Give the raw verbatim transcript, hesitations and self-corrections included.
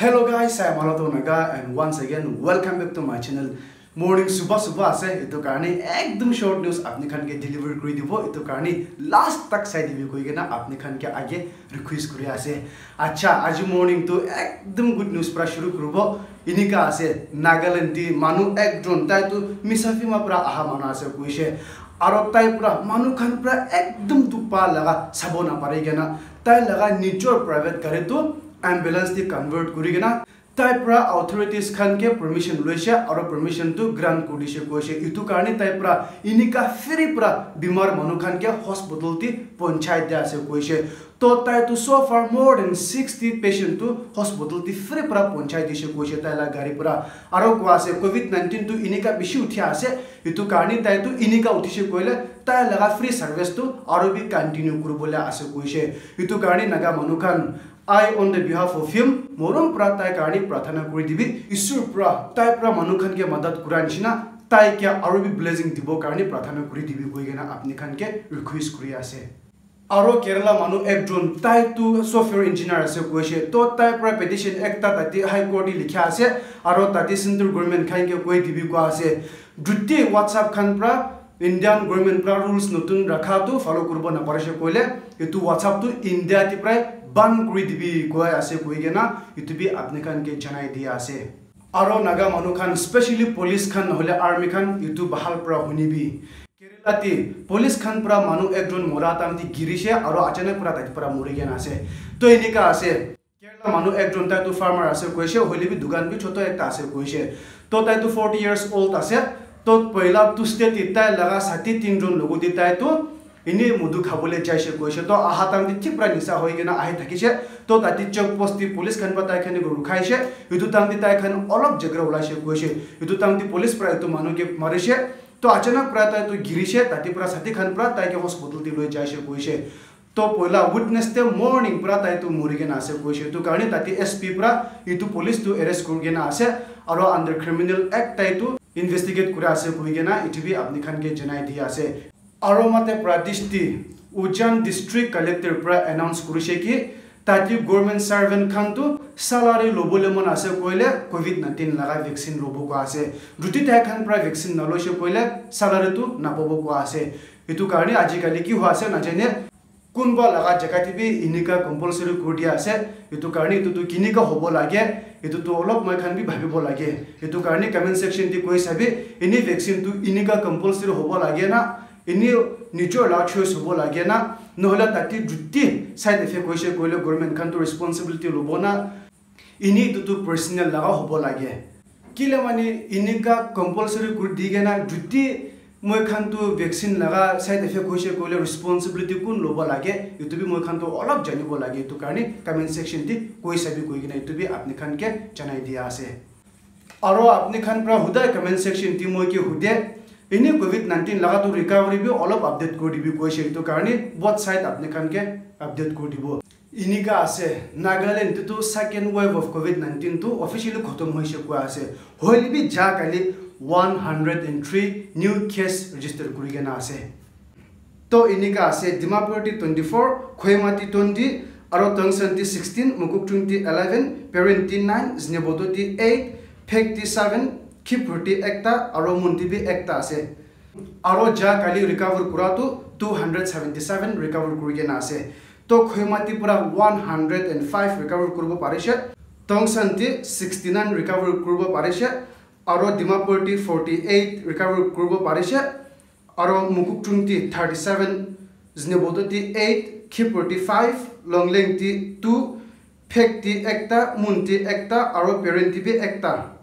Hello guys, I am Alato Naga and once again welcome back to my channel. Morning subah subah ase, etu karne ekdum short news apni khan ke deliver kuri dibo, etu karne last tak sai dibi koi kena apni khan ke age request kuri ase. Acha, aji morning tu ekdum good news pra shuru kuribo. Inika ase, Nagaland ti manu ekjon, tai tu Misafima pra aha manu ase koishe. Aro tai pra manu khan pra ekdum dukh pa laga sabo napari kena tai laga nijor private gari tu ambulance ti convert kuri kena tai pra authorities khan ke permission loise aro permission tu grant kuri dishe koishe. Etu karne tai pra inika free pra bimar manu khan ke hospital ti ponchai dia ase koishe. To tai tu so far more than sixty patient tu hospital ti free pra ponchai dishe koishe tai la gari pra. Aro koi ase covid nineteen tu inika bishi uthi ase, etu karne tai tu inika uthishe koile tai laga free service tu aro bi continue kuribole ase koishe. Etu karne Naga manu khan, I on the behalf of him, morom pra tai karne prathana kuri dibi. Isur pra tai pra manu khan ke madad kura nishina tai ke aro bi blessing dibo karne prathana kuri dibi koi kena apni khan ke request kuri ase. Aro Kerala manu ekjon, tai tu software engineer ase koishe. To tai pra petition ekta tate High Court te likha ase, aro tate central government khan ke koi dibi koi ase. Jute WhatsApp khan pra Indian government pra rules notun rakha tu follow kuribo naparishe koile, etu WhatsApp tu India ti prai ban kuri dibi koi ase koi kena, etu bi apni khan ke janai dia ase. Aro Naga manu khan, specially police khan nohole army khan, etu bahal pra hunibi. Kerala ti police khan pra manu ekjon mora time ti girishe aro achanak pra tai pra mori kena ase. To enika ase. Kerala manu ekjon, tai tu farmer ase koishe, hoile bi dukan bi choto ekta ase koishe. To tai tu forty years old ase. To poila Tuesday ti tai laga sati tinjon logot te tai tu ini modu khabole jaishe koishe. To aha time te thik pra nisa hoi kena ahi thakishe. To tate check post te police khan pra tai khan ke rukhaishe. Etu time te tai khan olop jhagra ulaishe koishe. Etu time te police pra etu manu ke marishe. To achanak pra tai tu girishe, tate pra sati khan pra tai ke hospital te loi jaishe koishe. To poila witness te morning pra tai tu mori kena ase koishe. Etu karne tate S P pra etu police tu arrest kuri kena ase. Aro under criminal act tai tu investigate kura ase koi kena etu bi apni khan ke janai dia ase. Aro Madhya Pradesh ti Ujjain district collector pra announce kurishe ki tate government servant khan tu salary lobole mon ase koile covid nineteen laga vaccine lobo koi ase. Jute tai khan pra vaccine naloishe koile salary tu napabo koi ase. Etu karne ajikali ki hoi ase najane, kunba laga jaga te bi enika compulsory kuri dia ase. Etu karne etu tu kenika hobo lage, etu tu olop moi khan bi bhabibo lage. Etu karne comment section te koi sabi, ini vaccine tu enika compulsory hobo lage na, ini nijor la choice hobo lage na, nohole tate jute side effect hoishe koile government khan tu responsibility lobo na, ini etu tu personal laga hobo lage. Kile mane enika compulsory kuri di kena jute moi khan tu vaccine laga side effect hoishe koile responsibility kun lobo lage, etu bi moi khan tu olop janibo lage. Etu karne comment section te koi sabi koi kena etu bi apni khan ke janai dia ase. Aro apni khan pra hudai comment section te moi ke hude, ini covid nineteen laga tu recovery bi olop update kuri dibi koishe. Etu karne both side apni khan ke update kuri dibo. Enika ase, Nagaland te tu second wave of covid nineteen tu officially khotom hoishe koi ase. Hoile bi ja kali one hundred and three new case register kuri kena ase. To enika ase, Dimapur ti twenty four, Kohima ti twenty, aro Tongsan ti sixteen, Mokokchung ti eleven, Peren ti nine, Zunheboto ti eight, Phek ti seven, Khibur ti ekta, aro Munti bi ekta ase. Aro ja kali recover kura tu two hundred seventy seven recover kuri kena ase. To Kohima ti pura one hundred and five recover kuribo parishe, Tongsan ti sixty nine recover kuribo parishe, aro Dimapur ti forty eight recover kuribo parishe, aro Mokokchung ti thirty seven, Zunheboto ti eight, Khibur ti five, Longleng ti two, Phek ti ekta, Munti ekta, aro Peren ti bi ekta.